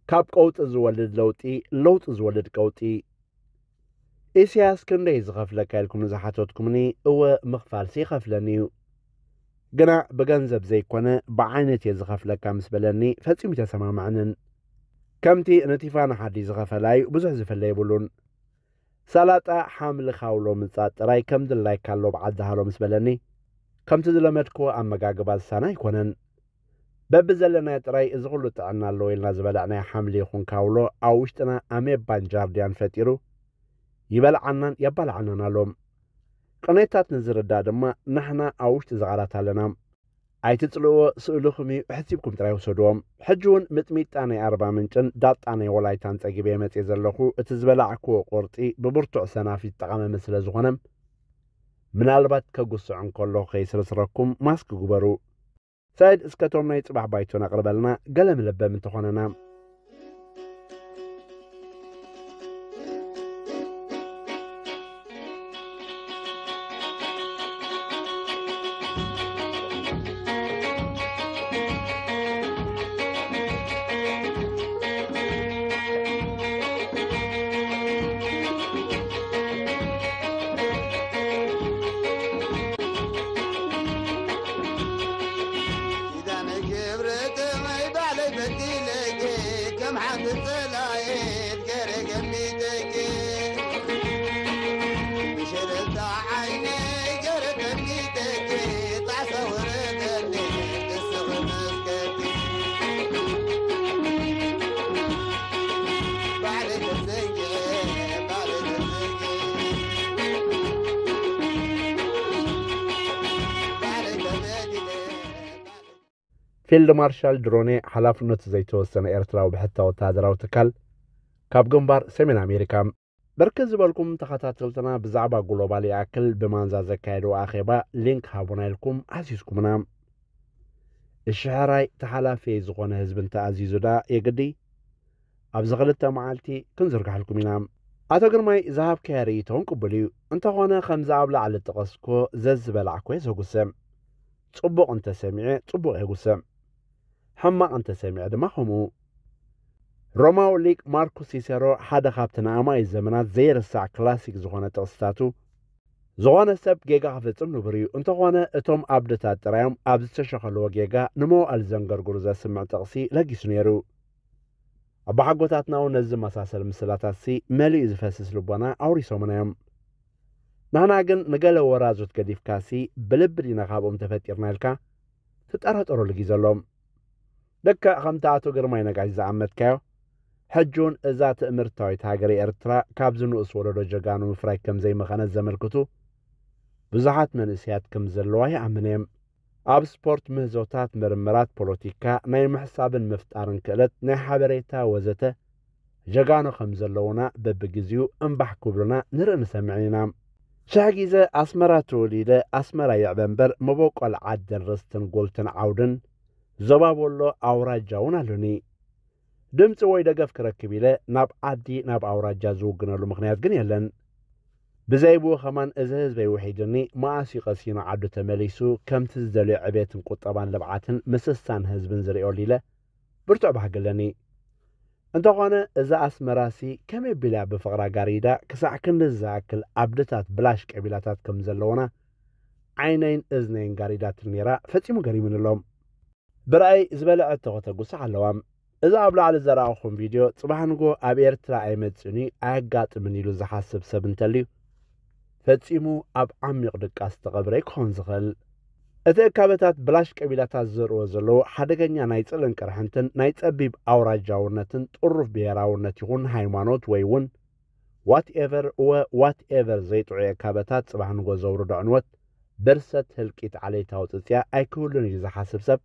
ካብ ቀውጢ ዝወልድ ለውጢ፣ ለውጢ ዝወልድ ቀውጢ። ኢሳያስ ክንደይ ዝኸፍለካ ኢልኩም ንዝሓተትኩምኒ፣ እወ ምኽፋልሲ ይኸፍለኒ እዩ። ግና ብገንዘብ ዘይኮነ ብዓይነት እየ ዝኸፍለካ ምስ በለኒ ፈጺሙ ኣይተሰማማዕንን። ከምቲ ንቲፋኒ ሓዲ ዝኸፈላ እዩ ብዙሕ ዝፍለ የብሉን። ሰላጣ ሓምሊ ካውሎ ምጻእ ጥራይ ከም ድላይካ ኣሎ ብዓዲ ሃሎ ምስ በለኒ፣ ከምቲ ዝለመድክዎ ኣመጋግባ ዝሳነ ኣይኮነን። በብዘለናዮ ጥራይ እዚ ኩሉ ጥዕና ኣለዎ ኢልና ዝበላዕናዮ ሓምሊ ይኹን ካውሎ ኣብ ውሽጥና ኣሜባን ጃርዲያን ፈጢሩ ይበልዓናን የባልዓናን ኣሎ። ቅኔታት ንዝርዳእ ድማ ንሕና ኣብ ውሽጢ ዝቓላት ኣለና። ኣይትጽልእዎ፣ ስእልኹም እዩ፣ ሕሲብኩም ጥራይ ውሰድዎ። ሕጂ እውን ምጥሚጣ ናይ ኣርባ ምንጭን ዳጣ ናይ ወላይታን ጸጊበ መጽየ ዘለኹ፣ እቲ ዝበላዕክዎ ቁርጢ ብብርቱዕ ሰናፊት ጠቓመመ ስለ ዝኾነ፣ ምናልባት ከጉስዕ እንከሎ ከይስርስረኩም ማስክ ግበሩ። ሳይድ፣ እስከ እቶም ናይ ጽባሕ ባይቶና ኣቕርበልና፣ ገለ መለበሚ እንተኾነና። ኪዳነ ክብረት ማይ ባዕለይ በዲለኪ፣ ከም ሓንቲ ጸላኤት ገረ ገሚተኪ። ብሸለልታ ዓይነይ ገረ ገሚተኪ፣ ጣዕሳ ወረደኒ፣ ክስኺ መስከኪ። ባዕለይ ተዘንጊዐ፣ ባዕለይ ተዘንጊዐ። ባዕለይ ተበዲለ፣ ባዕለይ ፊልድ ማርሻል ድሮኔ ሓላፍነቱ ዘይተወሰነ ኤርትራዊ ብሕታ ወተሃደራዊ ትካል ካብ ግንባር ሰሜን ኣሜሪካ። ብርክት ዝበልኩም ተኸታተልትና ብዛዕባ ግሎባል ይኣክል ብማንዛ ዘካየድዎ ኣኼባ ሊንክ ሃቡና ኢልኩም ኣዚዝኩምና። እሺ ሕራይ ተሓላፊ ዝኾነ ህዝቢ እንተኣዚዙ ደኣ የግዲ ኣብዚ ክልተ መዓልቲ ክንዝርግሐልኩም ኢና። ኣቶ ግርማይ ዝሃብካዮ ርእይቶ እውን ቅቡል እዩ። እንተኾነ ከምዚ ኣብ ላዕሊ ዝጠቐስኩዎ ዘዝበላዕኩ እየ ዘጉስዕ። ጽቡቕ እንተሰሚዐ ጽቡቕ እየ ዝጉስዕ። ሕማቕ እንተሰሚዐ ድማ ከምኡ። ሮማዊ ሊቅ ማርኩስ ሲሴሮ ሓደ ካብቲ ንኣማኢት ዘመናት ዘይርሳዕ ክላሲክ ዝኾነ ጥቕስታቱ፣ ዝኾነ ሰብ ጌጋ ክፍጽም ንቡር እዩ፣ እንተኾነ እቶም ኣብድታት ጥራዮም ኣብ ዝተሸኸልዎ ጌጋ ንመዋእል ዘንገርግሩ ዘስምዕ ጥቕሲ ለጊሱ ነይሩ። ኣቦሓጎታትና እውን ነዚ ዝመሳሰል ምስላታትሲ መሊኡ ዝፈስስ ልቦና ኣውሪሶምና እዮም። ንሕና ግን ንገለ ወራዙት ገዲፍካሲ ብልቢ ዲና ካብኦም ተፈጢርና ኢልካ ትጠራጠረሉ ግዜ ኣሎ። ልክዕ ከምቲ ኣቶ ግርማይ ነጋሽ ዝኣመትካዮ፣ ሕጂ እውን እዛ ትእምርታዊት ሃገረ ኤርትራ ካብዚ ንኡስ ወለዶ ጀጋኑ ምፍራይ ከም ዘይመኸነት ዘመልክቱ ብዙሓት መንእሰያት ከም ዘለዋ ይኣምን እየ። ኣብ ስፖርት ምህዞታት፣ ምርምራት፣ ፖለቲካ፣ ናይ ምሕሳብን ምፍጣርን ክእለት፣ ናይ ሓበሬታ ወዘተ ጀጋኑ ከም ዘለዉና በብግዜኡ እምባሕ ክብሉና ንርኢ ንሰምዕን ኢና። ሽሕ ግዜ ኣስመራ ተወሊደ ኣስመራ ይዕበ እምበር መበቆል ዓድን ርስትን ጉልትን ዓውድን ዞባ ወሎ ኣውራጃ እውን ኣሎኒ። ድምፂ ወይ ደገፍ ክረክብ ኢለ ናብ ዓዲ ናብ ኣውራጃ ዝውግነሉ ምኽንያት ግን የለን። ብዘይ ብኡ ከማን እዚ ህዝበይ ውሒዱኒ መኣስ እዩ ቀሲኑ ዓዱ ተመሊሱ ከምቲ ዝደልዮ ዕቤትን ቁጠባን ልምዓትን ምስሳን ህዝብን ዝርእየሉ ኢለ ብርቱዕ ባህጊ ኣለኒ። እንተኾነ እዛ ኣስመራሲ ከመይ ኣቢላ ብፍቕራ ጋሪዳ ክሳዕ ክንድዚ ዝኣክል ዓድታት ብላሽ ቀቢላታት ከም ዘለውና ዓይነይን እዝነይን ጋሪዳትኒ ነይራ ፈጺሙ ገሪሙኒ ኣሎ። ብራእይ ዝበለዐቶ ከተጉስሕ ኣለዋ። እዛ ኣብ ላዕሊ ዘርኣኹም ቪድዮ ጽባሕ ንግሆ ኣብ ኤርትራ ኣይመጽእን እዩ ኣየጋጥምን ኢሉ ዝሓስብ ሰብ እንተልዩ ፈጺሙ ኣብ ዓሚቕ ድቃስ ዝተቐብረ እዩ ክኸውን ዝኽእል። እቲ እካበታት ብላሽ ቀቢላታት ዘርእዎ ዘለዉ ሓደገኛ ናይ ጽልእን ቅርሕንትን ናይ ጸቢብ ኣውራጃውነትን ጥሩፍ ብሄራውነት ይኹን ሃይማኖት ወይ እውን ዋትኤቨር እወ ዋትኤቨር ዘይጥዑይ እካበታት ጽባሕ ንግሆ ዘውርዶ ዕንወት፣ ብርሰት፣ ህልቂት፣ ዓሌታዊ ጽጽያ ኣይክህሉን እዩ ዝሓስብ ሰብ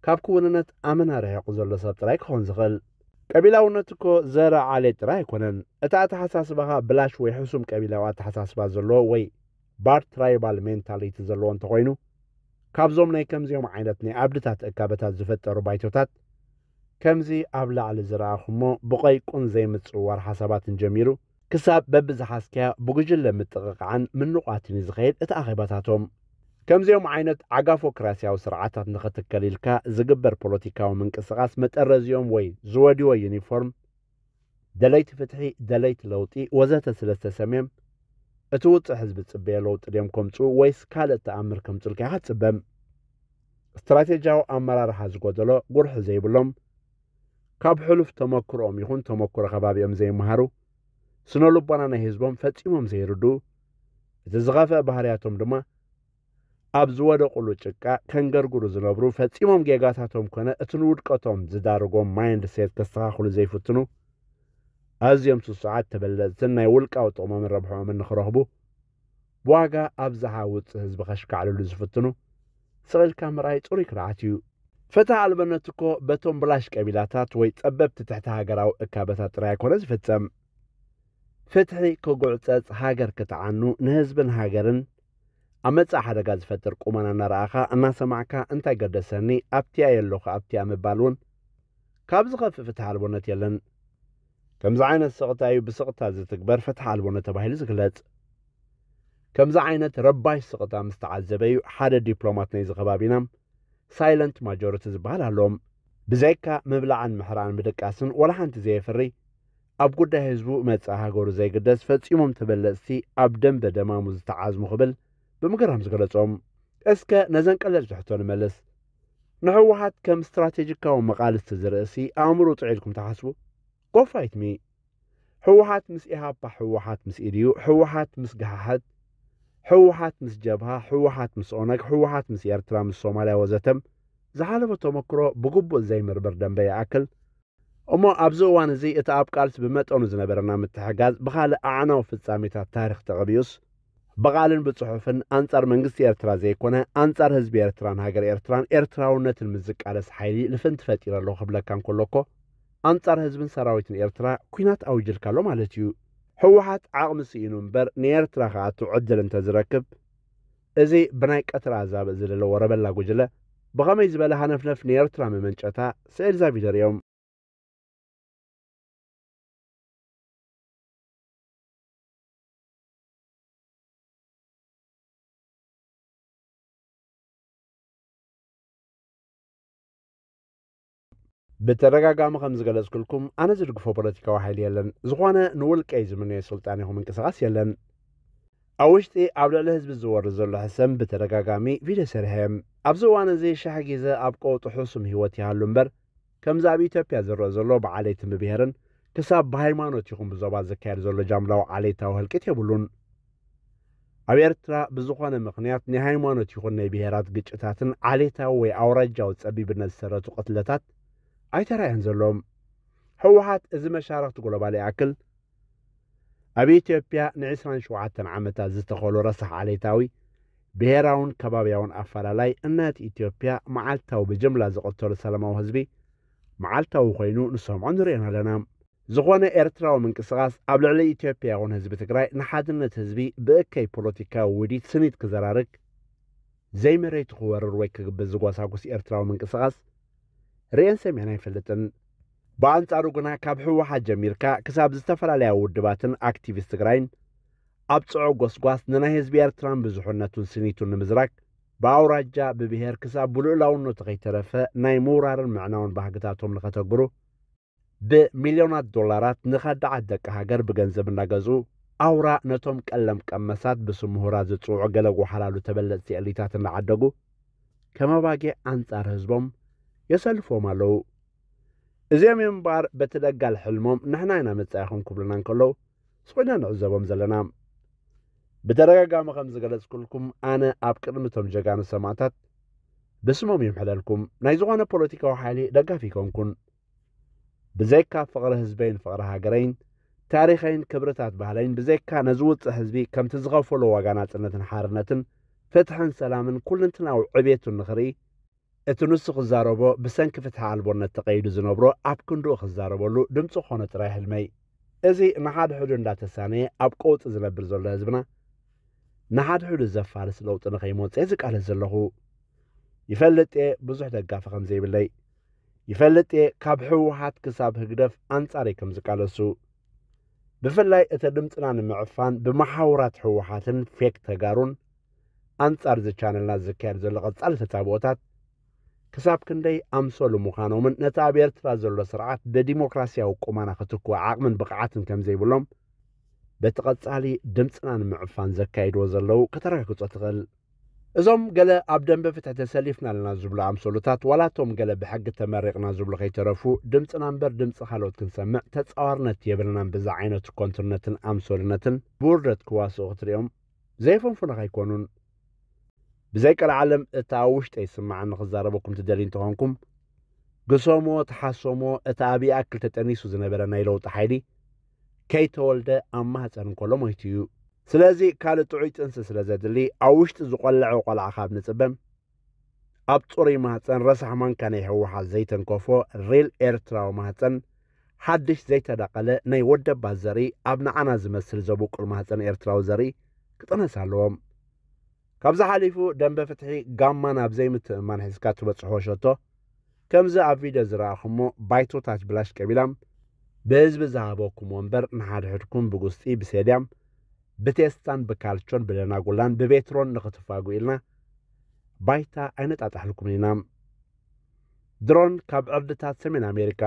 ካብ ክውንነት ኣመና ርሒቑ ዘሎ ሰብ ጥራይ ክኸውን ዝኽእል። ቀቢላውነት እኮ ዘረ ዓሌት ጥራይ ኣይኮነን። እቲ ኣተሓሳስባኻ ብላሽ ወይ ሕሱም ቀቢላዊ ኣተሓሳስባ ዘለዎ ወይ ባር ትራይባል ሜንታሊቲ ዘለዎ እንተኾይኑ ካብዞም ናይ ከምዚኦም ዓይነት ናይ ኣብድታት እካበታት ዝፈጠሩ ባይቶታት ከምዚ ኣብ ላዕሊ ዝረኣኹሞ ብቐይቁን ዘይምጽውዋር ሓሳባትን ጀሚሩ ክሳብ በብዝሓዝካያ ብጉጅለ ምጥቕቓዕን ምንቋትን እዩ ዝኸይድ እቲ ኣኼባታቶም። ከምዚኦም ዓይነት ዓጋፎክራሲያዊ ስርዓታት ንኽትከል ኢልካ ዝግበር ፖለቲካዊ ምንቅስቓስ መጠረዚኦም ወይ ዝወድዎ ዩኒፎርም ደለይቲ ፍትሒ፣ ደለይቲ ለውጢ ወዘተ ስለ ዝተሰምየም እቲ ውፅእ ህዝቢ ዝፅበዮ ለውጢ ድዮም ከምፅኡ ወይስ ካልእ ተኣምር ከምፅኡልካ ኢኻ ትፅበም? ስትራቴጂያዊ ኣመራርሓ ዝጎደሎ፣ ጉርሒ ዘይብሎም፣ ካብ ሕሉፍ ተመክሮኦም ይኹን ተመክሮ ከባቢኦም ዘይመሃሩ፣ ስነ ልቦና ናይ ህዝቦም ፈጺሞም ዘይርድኡ፣ እቲ ዝኸፍአ ባህርያቶም ድማ ኣብ ዝወደቑሉ ጭቃ ከንገርግሩ ዝነብሩ፣ ፈጺሞም ጌጋታቶም ኮነ እቲ ንውድቀቶም ዝዳርጎም ማይንድ ሴት ከስተኻኽሉ ዘይፍትኑ፣ ኣዝዮም ስሱዓት ተበለጽትን ናይ ውልቃዊ ጥቕሞምን ረብሕኦምን ንኽረኽቡ ብዋጋ ኣብዝሓ ውጽእ ህዝቢ ከሽካዕልሉ ዝፍትኑ ስቕ ኢልካ ምርኣይ ጽሩይ ክርዓት እዩ። ፍትሒ ኣልበነት እኮ በቶም ብላሽ ቀቢላታት ወይ ጸበብቲ ትሕቲ ሃገራዊ እካበታት ጥራይ ኣይኮነ ዝፍጸም። ፍትሒ ክጉዕጸጽ፣ ሃገር ክትዓኑ፣ ንህዝብን ሃገርን ኣብ መጻኢ ሓደጋ ዝፈጥር ቁመና እናረኣኻ እናሰማዕካ እንታይ ገደሰኒ ኣብቲያ የለኹ ኣብቲያ ምባል እውን ካብ ዝኸፍእ ፍትሒ ኣልቦነት የለን። ከምዚ ዓይነት ስቕታ እዩ ብስቕታ ዝትግበር ፍትሒ ኣልቦነት ተባሂሉ ዝግለጽ። ከምዚ ዓይነት ረባሽ ስቕታ ምስ ተዓዘበ እዩ ሓደ ዲፕሎማት ናይዚ ከባቢና ሳይለንት ማጆሪቲ ዝበሃል ኣሎም። ብዘይካ ምብላዕን ምሕራን ምድቃስን ወላ ሓንቲ ዘየፍሪ፣ ኣብ ጉዳይ ህዝቡ መጻኢ ሃገሩ ዘይግደስ ፈጺሞም ተበለጽቲ ኣብ ደንበ ደማሙ ዝተዓዝሙ ክብል ብምግራም ዝገለጾም። እስከ ነዘን ቀለልቲ ሕቶ ንመልስ። ንህወሓት ከም ስትራቴጂካዊ መቓልስቲ ዝርእሲ ኣእምሮ ጥዑይ ኢልኩም ትሓስቡ? ጎፋይትሚ ህወሓት ምስ ኢሃፓ፣ ህወሓት ምስ ኢድዩ፣ ህወሓት ምስ ገሓሕት፣ ህወሓት ምስ ጀብሃ፣ ህወሓት ምስ ኦነግ፣ ህወሓት ምስ ኤርትራ፣ ምስ ሶማልያ ወዘተም ዝሓለፈ ተመክሮ ብግቡእ ዘይምርምር ደንበ ይኣክል። እሞ ኣብዚ እዋን እዚ እቲ ኣብ ቃልሲ ብመጠኑ ዝነበረና ምትሕጋዝ ብኻልእ ኣዕናዊ ፍጻሜታት ታሪኽ ተቐቢኡስ ብቓልን ብጽሑፍን ኣንጻር መንግስቲ ኤርትራ ዘይኮነ ኣንጻር ህዝቢ ኤርትራን ሃገር ኤርትራን ኤርትራውነትን ምስ ዝቃለስ ሓይሊ ልፍንቲ ፈጢረ ኣለኹ ክብለካ እንከሎ እኮ ኣንጻር ህዝብን ሰራዊትን ኤርትራ ኲናት ኣዊጅልካ ኣሎ ማለት እዩ። ህወሓት ዓቕሚ ስኢኑ እምበር ንኤርትራ ክኣቱ ዕድል እንተዝረክብ እዚ ብናይ ቀትሪ ኣዛብእ ዝለለ ወረበላ ጉጅለ ብኸመይ ዝበለ ሃነፍነፍ ንኤርትራ መመንጨታ ስዕል ዛቪደር እዮም። ብተደጋጋሚ ከም ዝገለጽኩልኩም ኣነ ዝድግፎ ፖለቲካዊ ሓይሊ የለን። ዝኾነ ንውልቀይ ዝምነዮ ስልጣን ይኹን ምንቅስቓስ የለን። ኣብ ውሽጢ ኣብ ልዕሊ ህዝቢ ዝወርድ ዘሎ ሕሰም ብተደጋጋሚ ቪድዮ ሰሪሐ እየ። ኣብዚ እዋን እዚ ሽሕ ግዜ ኣብ ቀውጢ ሕሱም ህይወት ይሃሉ እምበር ከምዚ ኣብ ኢትዮጵያ ዝረአ ዘሎ ብዓሌትን ብብሄርን ክሳብ ብሃይማኖት ይኹን ብዞባ ዝካየድ ዘሎ ጃምላዊ ዓሌታዊ ህልቂት የብሉን። ኣብ ኤርትራ ብዝኾነ ምኽንያት ናይ ሃይማኖት ይኹን ናይ ብሄራት ግጭታትን ዓሌታዊ ወይ ኣውራጃዊ ጸቢብነት ዝሰረቱ ቅትለታት ኣይተራእየን ዘሎ። ህወሓት እዚ መሻርኽቲ ግሎባል ይኣክል ኣብ ኢትዮጵያ ንዕስራን ሸውዓተን ዓመታት ዝተኸሎ ረሳሕ ዓሌታዊ፣ ብሄራውን ከባብያውን ኣፈላላይ እናቲ ኢትዮጵያ መዓልታዊ ብጅምላ ዝቐተሉ ሰላማዊ ህዝቢ መዓልታዊ ኮይኑ ንሰምዖ ንርእዮን ኣለና። ዝኾነ ኤርትራዊ ምንቅስቓስ ኣብ ልዕሊ ኢትዮጵያ ይኹን ህዝቢ ትግራይ ንሓድነት ህዝቢ ብእከይ ፖለቲካዊ ውዲት ስኒት ክዘራርግ ዘይመሬቱ ክወርር ወይ ክግብዝ ዝጓሳጉስ ኤርትራዊ ምንቅስቓስ ርእየን ሰሚዐን ኣይፈልጥን። ብኣንጻሩ ግና ካብ ህወሓት ጀሚርካ ክሳብ ዝተፈላለያ ውድባትን ኣክቲቪስት ትግራይን ኣብ ጽዑቕ ጎስጓስ ንናይ ህዝቢ ኤርትራን ብዙሕነቱን ስኒቱን ንምዝራግ ብኣውራጃ ብብሄር ክሳብ ብልኡላውነቱ ከይተረፈ ናይ ምውራርን ምዕናውን ባህግታቶም ንኸተግብሩ ብሚልዮናት ዶላራት ንኸዳዓት ደቂ ሃገር ብገንዘብ እናገዝኡ ኣውራ ነቶም ቀለም ቀመሳት ብስም ምሁራት ዝጽውዑ ገለ ጎሓላሉ ተበለጽቲ ኤሊታት እናዓደጉ ከም ኣባጊዕ ኣንጻር ህዝቦም የሰልፍዎም ኣለዉ። እዚኦም እዮም እምበኣር በቲ ደጋል ሕልሞም ንሕና ኢና መጻኢኹም ክብሉና እንከለዉ ስቕ ኢልና ንዕዘቦም ዘለና። ብተደጋጋሚ ከም ዝገለጽኩልኩም ኣነ ኣብ ቅድሚ እቶም ጀጋኑ ሰማእታት ብስሞም ይምሕለልኩም። ናይ ዝኾነ ፖለቲካዊ ሓይሊ ደጋፊ ኣይኮንኩን። ብዘይካ ፍቕሪ ህዝበይን ፍቕሪ ሃገረይን ታሪኸይን ክብርታት ባህለይን ብዘይካ ነዚ ውፅእ ህዝቢ ከምቲ ዝኸፈሎ ዋጋ ናፅነትን ሓርነትን ፍትሕን ሰላምን ኩልንትናዊ ዕቤቱን ንኽርኢ እቲ ንሱ ክዛረቦ ብሰንኪ ፍትሒ ኣልቦነት ተቐይዱ ዝነብሮ ኣብ ክንድኡ ክዛረበሉ ድምፂ ክኾኖ ጥራይ ሕልመይ። እዚ ንሓድሕዱ እንዳተሳነየ ኣብ ቀውጢ ዝነብር ዘሎ ህዝብና ንሓድሕዱ ዘፋርስ ለውጢ ንኸይመፅእ ዝቃለስ ዘለኹ። ይፈልጥ እየ ብዙሕ ደጋፊ ከም ዘይብለይ። ይፈልጥ እየ ካብ ህወሓት ክሳብ ህግደፍ ኣንጻረይ ከም ዝቃለሱ። ብፍላይ እቲ ድምፅና ንምዕፋን ብመሓውራት ህወሓትን ፌክ ተጋሩን ኣንጻር እዚ ቻነልና ዝካየድ ዘሎ ቀጻሊ ተጻብኦታት ክሳብ ክንደይ ኣምሰሉ ምዃኖምን ነቲ ኣብ ኤርትራ ዘሎ ስርዓት ብዲሞክራሲያዊ ቁመና ክትክኡ ዓቕምን ብቕዓትን ከም ዘይብሎም በቲ ቀጻሊ ድምጽና ንምዕፋን ዘካይድዎ ዘለዉ ከተረጋግጾ ትኽእል። እዞም ገለ ኣብ ደንበ ፍትሒ ተሰሊፍና ኣለና ዝብሉ ኣምሰሉታት ዋላ እቶም ገለ ብሕጊ ተመሪቕና ዝብሉ ከይተረፉ ድምጽና እምበር ድምጺ ካልኦት ክንሰምዕ ተጻዋርነት የብልናን ብዛ ዓይነት ኮንትርነትን ኣምሰሉነትን ብውርደት ክዋስኡ ክትሪኦም ዘይፈንፉና ከይኮኑን። ብዘይ ቀልዓለም እቲ ኣብ ውሽጠይ ዝስምዓኒ ክዛረበኩም ትደልዩ እንተኾንኩም፣ ግሰሞ፣ ተሓሰሞ፣ እቲ ኣብ ይኣክል ተጠኒሱ ዝነበረ ናይ ለውጢ ሓይሊ ከይተወልደ ኣብ ማህፀን እንከሎ ሞይቱ እዩ። ስለዚ ካልእ ጥዑይ ጥንሲ ስለ ዘድሊ ኣብ ውሽጢ ዝቆለዐ ቆልዓ ካብ ንፅበ ኣብ ፅሩይ ማህፀን ረሳሕ ማንካ ናይ ህወሓት ዘይተንከፎ ሪል ኤርትራዊ ማህፀን ሓድሽ ዘይተዳቐለ ናይ ወደባት ዘርኢ ኣብ ንዓና ዝመስል ዘቡቁል ማህፀን ኤርትራዊ ዘርኢ ክጥነስ ኣለዎም። ካብዚ ሓሊፉ ደንበ ፍትሒ ጋማ ናብ ዘይምትእምማን ሒዝካ ትበፅሕዎ ሸቶ ከምዚ ኣብ ቪድዮ ዝረኣኹሞ ባይቶታት ብላሽ ቀቢላም ብህዝቢ ዝሃበኩም ወንበር ንሓድሕድኩም ብጉስጢ ብሴድያም ብቴስታን ብካልቾን ብደናጉላን ብቤትሮን ንኽትፋጉ ኢልና ባይታ ኣይነጣጣሕልኩምን ኢና። ድሮን ካብ ዕርድታት ሰሜን ኣሜሪካ